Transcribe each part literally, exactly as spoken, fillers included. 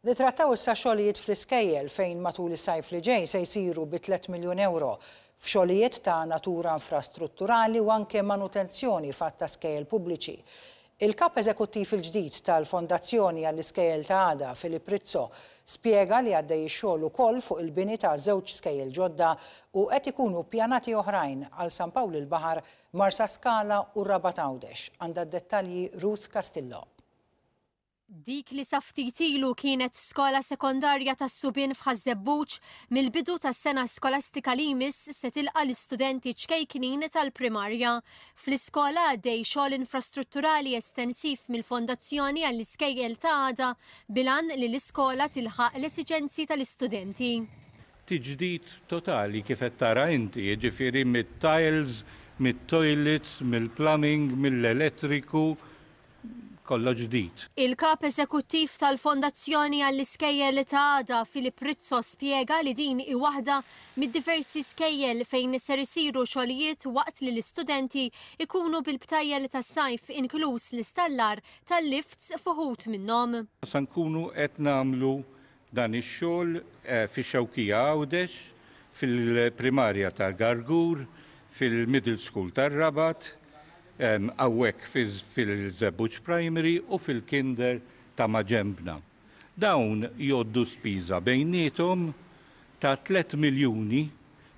Nitrattaw issa xogħlijiet fl-iskejjel, fejn matul is-sajf li ġej se jsiru bi tliet miljun euro f'xogħlijiet ta' natura infrastrutturali u anke manutenzjoni f'għadd ta' skejjel pubbliċi. Il-kap eżekuttiv il-ġdid tal-Fondazzjoni għall-Iskejjel ta' Għada, Filip Rizzo, spjega li għaddej ix-xogħol ukoll fuq il-bini ta' żewġ skejjel ġodda u qed ikunu pjanati oħrajn għal San Pawl il-Baħar, Marsaskala u Rabat Għawdex. Għandha dettalji Ruth Castillo. Dik li sa ftit ilu kienet skola sekondarja tas-subien f'Ħaż-Żebbuġ, mill-bidu tas-sena skolastika li jmiss se tilqa' l-istudenti ċkejknin tal-primarja. Fl-iskola għaddej xogħol infrastrutturali estensiv mill-Fondazzjoni għall-Iskejjel ta' Għada bil-għan li l-iskola tilħaq l-esiġenzi tal-istudenti. Tiġdid totali kif qed tara inti, jiġifieri mit-tiles, mit-toilets, mill-plumbing, mill-elettriku, kollox ġdid. Il-kap eżekuttiv tal-Fondazzjoni għall-Iskejjel ta' Għada, Filip Rizzo, spjega li din hi waħda mid-diversi skejjel fejn ser isiru xogħlijiet waqt li l-istudenti ikunu bil-btajjel tas-sajf, inkluż l-istallar tal-lifts f'uħud minnhom. Sa nkunu qed nagħmlu dan ix-xogħol eh, fix-Xewkija Għawdex, fil-primarja tal-Gargur, fil-Middle School tar-Rabat, hawnhekk fil-Żebbuġ Primary u fil-Kinder ta' maġenbna. Dawn jgħoddu spiża bejniethom ta' tliet miljuni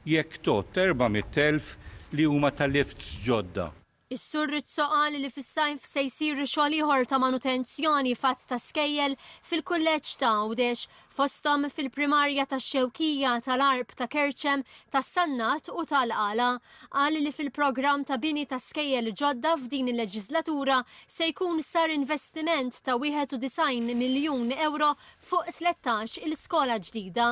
jekk tgħodd erba' mitt elf li huma ta' lifts ġodda. Is-Sur Rizzo qal li fis-sajf se jsir xogħol ieħor ta' manutenzjoni f'għadd ta' skejjel fil-kulleġġ ta' Għawdex, fosthom fil-primarja tax-Xewkija, tal-Għarb, ta' Kerċem, tas-Sannat u tal-Qala. Qal li fil-programm ta' bini ta' skejjel ġodda f'din il-leġislatura se jkun sar investiment ta' wieħed u disgħin miljun euro fuq tlettax il-skola ġdida.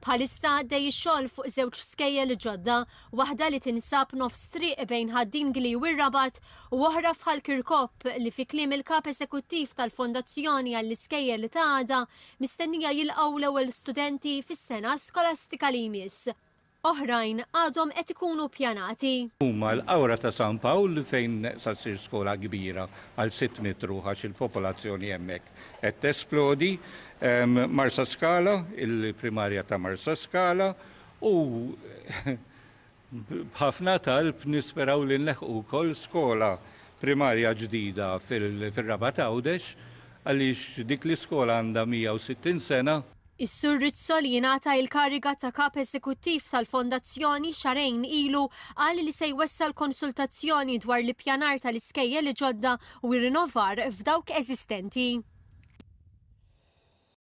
Bħalissa għaddej ix-xogħol fuq żewġ skejjel ġodda, waħda li tinsab nofs triq bejn Ħad-Dingli u r-Rabat u oħra f'Ħal Kirkop li, fi kliem il-kap eżekuttiv tal-Fondazzjoni għall-Iskejjel ta' Għada, mistennija jilqgħu l-ewwel studenti fis-sena skolastika li jmiss. Oħrajn għadhom qed ikunu pjanati. Huma l-Qawra ta' San Pawl, fejn sa ssir skola kbira għal sitt mitt ruħ għax il-popolazzjoni hemmhekk qed tesplodi, Marsa Skala, il-primarja ta' Marsa Skala, u b'ħafna talb nisperaw li nleħqu wkoll skola primarja ġdida fil-Rabat Għawdex, għaliex dik l-iskola għandha mija u sittin sena. Is-Sur Rizzo, li jingħata il-kariga ta' kap eżekuttiv tal-fondazzjoni xahrejn ilu, qal li se jwessal konsultazzjoni dwar l-ippjanar tal-iskejjel ġodda u rinnovar f'dawk eżistenti.